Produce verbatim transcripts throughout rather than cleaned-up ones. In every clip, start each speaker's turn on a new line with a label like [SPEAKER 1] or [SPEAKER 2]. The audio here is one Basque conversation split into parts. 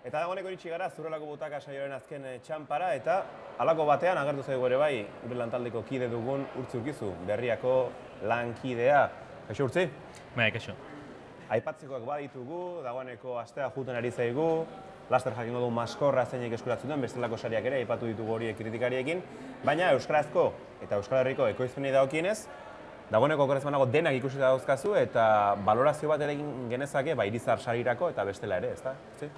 [SPEAKER 1] Eta dagoeneko iritsi gara Zurrelako Butaka saioaren azken txanpara eta halako batean agertu zaigu ere bai gure lantaldeko kide dugun Urtzi Urkizu, Berriako lankidea. Kaixo Urtzi?
[SPEAKER 2] Bai, kaixo.
[SPEAKER 1] Aipatzekoak baditugu, dagoeneko astea juten ari zaigu, laster jakingo du maskorra zeinek eskuratzen duen, bestelako sariak ere aipatu ditugu horiek kritikariekin, baina euskarazko eta Euskal Herriko ekoizpenei dagokienez, dagoeneko okerrez banago denak ikusita dauzkazu eta balorazio bat ere egin genezake ba Irizar sarirako eta bestela ere, ezta? Urtzi?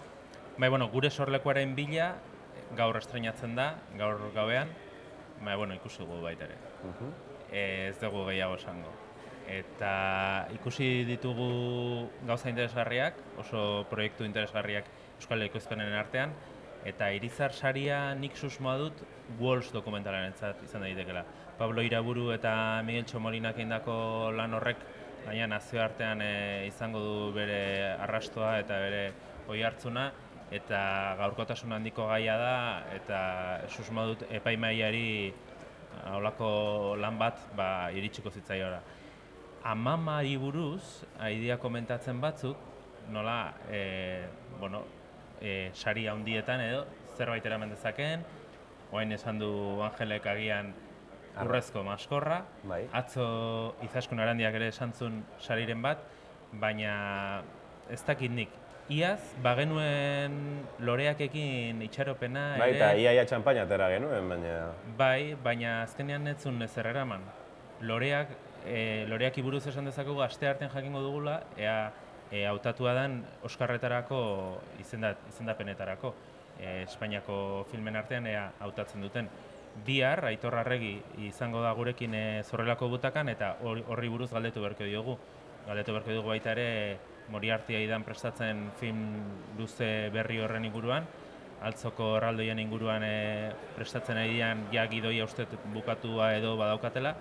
[SPEAKER 2] Bai, bueno, gure sorlekuaren bila gaur estreinatzen da, gaur gauean, bai, bueno, ikusi dugu baita ere. Uh-huh. e, ez dugu gehiago esango. Eta ikusi ditugu gauza interesgarriak, oso proiektu interesgarriak Euskal Ekoizpenen artean, eta Irizar saria nik susmoa dut Walls dokumentalentzat izan daitekela. Pablo Iraburu eta Miguel Txomolinak egindako lan horrek, baina nazioartean e, izango du bere arrastoa eta bere oihartzuna, eta gaurkotasun handiko gaia da, eta susmo dut epaimaiari holako lan bat ba, iritsiko zitzaiora. Amamari buruz, aidia komentatzen batzuk, nola, e, bueno, e, sari handietan edo, zerbait eraman dezakeen, orain esan du Angelek agian urrezko maskorra, bai. Atzo Izaskun Arandiak ere esan zuen sariren bat, baina ez dakit nik. Iaz, bagenuen loreakekin itxaropena ere...
[SPEAKER 1] Bai, eta iaia txampaina atera genuen, baina...
[SPEAKER 2] Bai, baina azkenean ez zuen ezer eraman. Loreak, e, loreak iburuz esan dezakegu aste artean jakingo dugula, ea e, hautatua den Oskarretarako izendat, izendapenetarako. E, Espainiako filmen artean ea hautatzen duten. Bihar, Aitor Arregi izango da gurekin e, Zorrelako Butakan, eta horri buruz galdetu beharko diogu. Galdetu beharko dugu baita ere, Moriartia idan prestatzen film luze berri horren inguruan, altzoko erraldoien inguruan e, prestatzen ari dian ja gidoia uste bukatua edo badaukatela.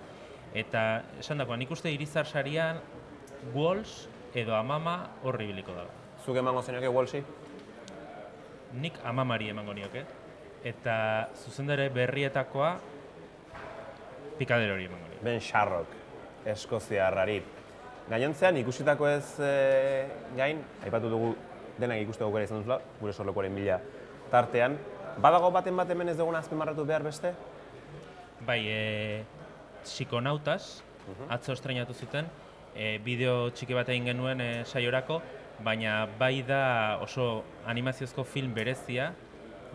[SPEAKER 2] Eta esan dagoa, nik uste Irizar sarian Walls edo Amama horri biliko dela.
[SPEAKER 1] Zuk emango zenioke Wallsi?
[SPEAKER 2] Nik Amamari emango nioke. Eta zuzendare berrietakoa Pikadero hori emango nioke.
[SPEAKER 1] Ben Sharrock, eskoziarrari. Gainontzean ikusitako ez e, gain, aipatu dugu denak ikusteko gara izan duzula, gure sorlekuaren bila tartean. Badago baten bat hemen ez duguna azpimarratu behar beste?
[SPEAKER 2] Bai, e, Psikonautas, uh-huh. Atzo estreinatu zuten, e, bideo txiki bat egin genuen e, saiorako, baina bai da oso animaziozko film berezia,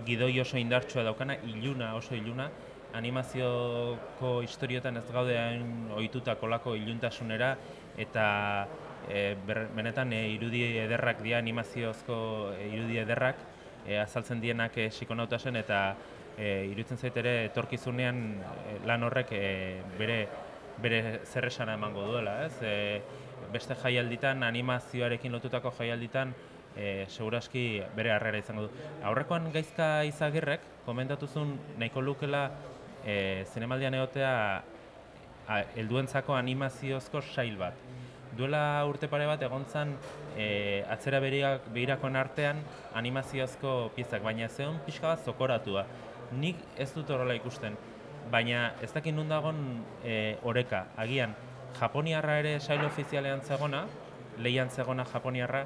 [SPEAKER 2] gidoi oso indartsua daukana, iluna, oso iluna, animazioko historiotan ez gaude hain ohituta kolako iluntasunera, eta e, ber, benetan e, irudi ederrak dira, animaziozko e, irudi ederrak e, azaltzen dienak e, Psikonautasen, eta e, iruditzen zait ere etorkizunean e, lan horrek e, bere, bere zerresana emango duela. Ez? E, beste jaialditan, animazioarekin lotutako jaialditan, e, seguraski bere harrera izango du. Aurrekoan Gaizka Izagirrek komentatuzun nahiko lukela e, zinemaldian egotea helduentzako animaziozko sail bat. Duela urte pare bat egon zen e, atzera behirakoen artean animaziozko piezak, baina zeon pixka bat zokoratua. Nik ez dut horrela ikusten, baina ez dakit nun dagon e, oreka. Agian, Japoniarra ere sail ofizialean zegona, lehian zegona Japoniarra,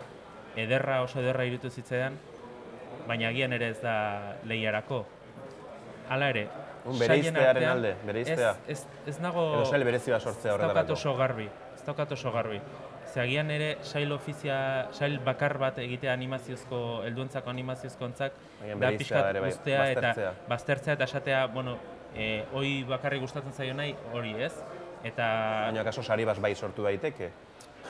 [SPEAKER 2] ederra oso ederra irutu zitzaidan, baina agian ere ez da lehiarako. Hala ere,
[SPEAKER 1] Un bereiztearen alde, bereiztea.
[SPEAKER 2] Ez, ez, ez nago...
[SPEAKER 1] Edo sail berezioa sortzea horretarako.
[SPEAKER 2] Ez daukat oso garbi, ez daukat oso garbi. Zeagian ere sail ofizia, sail bakar bat egitea animaziozko, helduentzako animaziozko ontzak, da pixkat guztea eta baztertzea eta esatea, bueno, e, hoi bakarri gustatzen zaio nahi, hori ez. Eta...
[SPEAKER 1] Baina kaso sari bat bai sortu daiteke,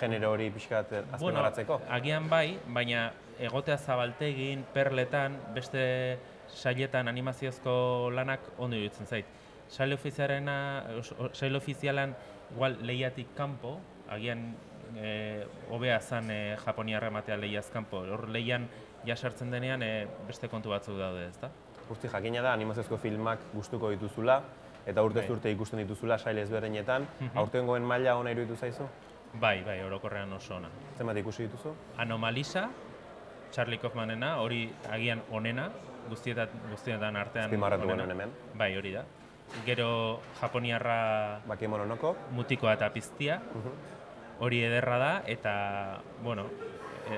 [SPEAKER 1] genero hori pixkat azpimarratzeko?
[SPEAKER 2] Bueno, agian bai, baina egotea zabaltegin, perletan, beste sailetan animaziozko lanak ondo iruditzen zait. Sail ofizialena, sail ofizialan igual lehiatik kanpo, agian e, hobea zan e, Japoniarra ematea lehiaz kanpo. Hor lehian jasartzen denean e, beste kontu batzuk daude, ezta?
[SPEAKER 1] Urtzi, jakina da animaziozko filmak gustuko dituzula eta urtez urte ikusten dituzula sail ezberdinetan. Aurtengoen maila ona iruditu zaizu?
[SPEAKER 2] Bai, bai, orokorrean oso ona.
[SPEAKER 1] Zenbat ikusi dituzu?
[SPEAKER 2] Anomalisa, Charlie Kaufmanena, hori agian onena, guztietan, guztietan artean
[SPEAKER 1] azpimarratu genuen hemen.
[SPEAKER 2] Bai, hori da. Gero Japoniarra
[SPEAKER 1] Bakemononoko
[SPEAKER 2] Mutikoa eta Piztia, hori ederra da, eta, bueno,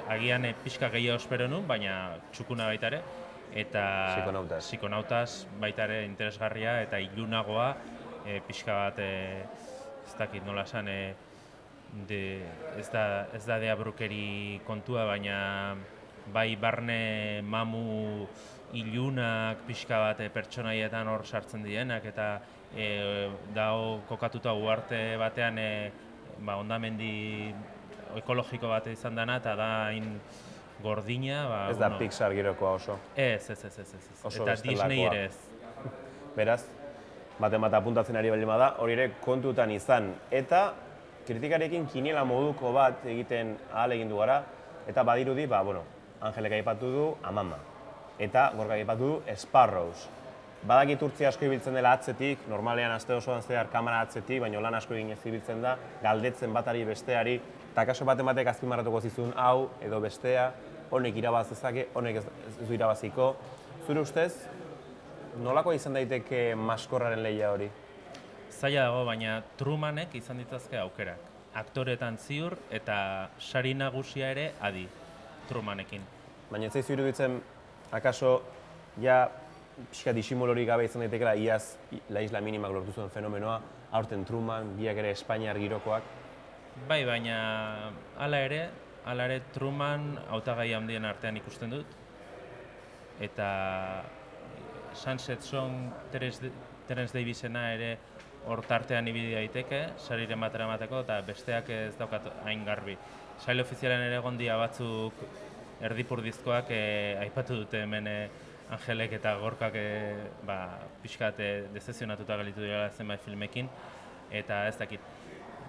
[SPEAKER 2] agian e, pixka gehiago espero nun, baina txukuna baita ere. Eta
[SPEAKER 1] Psikonautas.
[SPEAKER 2] Psikonautas baita ere interesgarria eta ilunagoa, e, pixka bat, e, ez dakit nola esan, e, de, ez da, ez da deabrukeri kontua, baina bai barne mamu ilunak pixka bat e, pertsonaietan hor sartzen dienak, eta e, dago kokatuta uarte batean e, ba, hondamendi ekologiko bat izan dena, eta da hain gordina. Ba,
[SPEAKER 1] Ez da
[SPEAKER 2] bueno,
[SPEAKER 1] Pixar girokoa oso.
[SPEAKER 2] Ez, ez, ez, ez, ez.
[SPEAKER 1] Oso
[SPEAKER 2] Eta
[SPEAKER 1] bestelakoa.
[SPEAKER 2] Disney ere ez.
[SPEAKER 1] Beraz, baten bat apuntatzen ari baldin bada, hori ere kontutan izan. Eta kritikarekin kiniela moduko bat egiten ahal egin du gara, eta badirudi, ba, bueno, Angelek aipatu du Amama. Eta Gorkak aipatu du Sparrows. Badakit urtzi asko ibiltzen dela atzetik, normalean aste osoan zehar kamera atzetik, baina lan asko egin ez ibiltzen da, galdetzen batari besteari, eta kaso baten batek azpimarratuko zizun hau edo bestea, honek irabaz dezake, honek ez, ez du irabaziko. Zure ustez, nolako izan daiteke maskorraren lehia hori?
[SPEAKER 2] Zaila dago, baina Trumanek izan ditazke aukerak. Aktoretan ziur eta sari nagusia ere adi Trumanekin.
[SPEAKER 1] Baina ez zaizu iruditzen, akaso, ja, pixka disimolorik gabe izan daitekela iaz La Isla Minimak lortu zuen fenomenoa, aurten Truman, biak ere Espainiar girokoak.
[SPEAKER 2] Bai, baina hala ere, hala ere Truman hautagai handien artean ikusten dut. Eta Sunset Song Terence Davisena ere hor tartean ibili daiteke, sariren batera emateko, eta besteak ez daukat hain garbi. Sail ofizialen ere egon dira batzuk erdipurdizkoak eh, aipatu dute hemen eh, Angelek eta Gorkak eh, ba, pixkat eh, dezezionatuta galitu dira zenbait filmekin, eta ez dakit.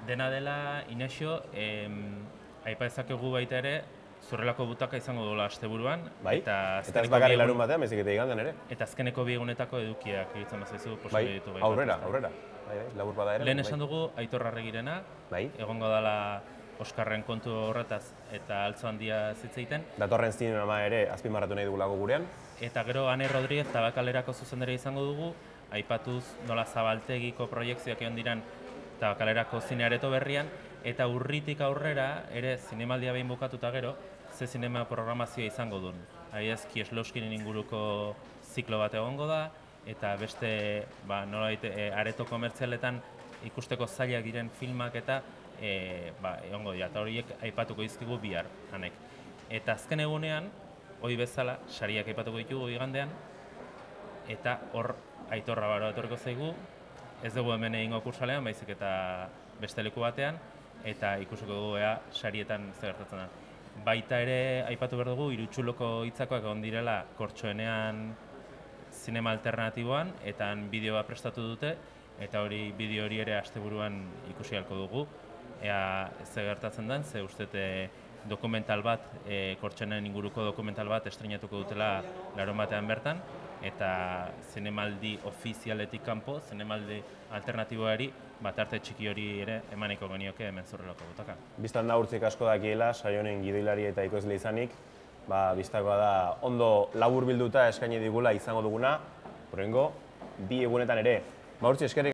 [SPEAKER 2] Dena dela, Inexio, eh, aipa ezakegu baita ere, zurrelako butaka izango duela asteburuan.
[SPEAKER 1] Bai,
[SPEAKER 2] eta,
[SPEAKER 1] eta ez bakarri larun batean, baizik eta igandean ere.
[SPEAKER 2] Eta azkeneko bi egunetako edukiak egitzen bazaizu
[SPEAKER 1] Bai,
[SPEAKER 2] posible ditu.
[SPEAKER 1] aurrera, aurrera. Bai, bai, labur bada ere.
[SPEAKER 2] Lehen
[SPEAKER 1] bai.
[SPEAKER 2] esan dugu Aitor Arregirena,
[SPEAKER 1] Bai.
[SPEAKER 2] egongo dela Oskarren kontu horretaz eta altzo handia zitzeiten.
[SPEAKER 1] Datorren zinema ere azpimarratu nahi dugulako gurean.
[SPEAKER 2] Eta gero Ane Rodríguez Tabakalerako zuzendari izango dugu, aipatuz nola zabaltegiko proiekzioak egon diran Tabakalerako zineareto berrian, eta urritik aurrera ere zinemaldia behin bukatuta gero, ze zinema programazioa izango duen. Adibidez, Kieslowskinen inguruko ziklo bat egongo da, eta beste ba, nolabait e, areto komertzialetan ikusteko zailak diren filmak eta e, ba, egongo dira, eta horiek aipatuko dizkigu bihar, Anek. Eta azken egunean, hori bezala, sariak aipatuko ditugu igandean, eta hor Aitorra Baro etorriko zaigu, ez dugu hemen egingo kursalean, baizik eta beste leku batean, eta ikusiko dugu ea sarietan zer gertatzen da. Baita ere, aipatu behar dugu, Irutxuloko hitzakoak egon direla kortxoenean zinema alternatiboan, eta bideoa prestatu dute, eta hori bideo hori ere asteburuan ikusi halko dugu. Ea zer gertatzen den, ze ustete dokumental bat, e, kortxoenen inguruko dokumental bat estrenatuko dutela larun batean bertan, eta zinemaldi ofizialetik kanpo, zinemaldi alternatiboari, bat arte txiki hori ere emaniko genioke hemen Zurrelako butaka.
[SPEAKER 1] Bistan da urtzik asko dakiela, saionen gidoilari eta ikusle izanik, ba, bistakoa da ondo labur bilduta eskaini digula izango duguna, horrengo, bi egunetan ere. Ba, urtzi eskerrik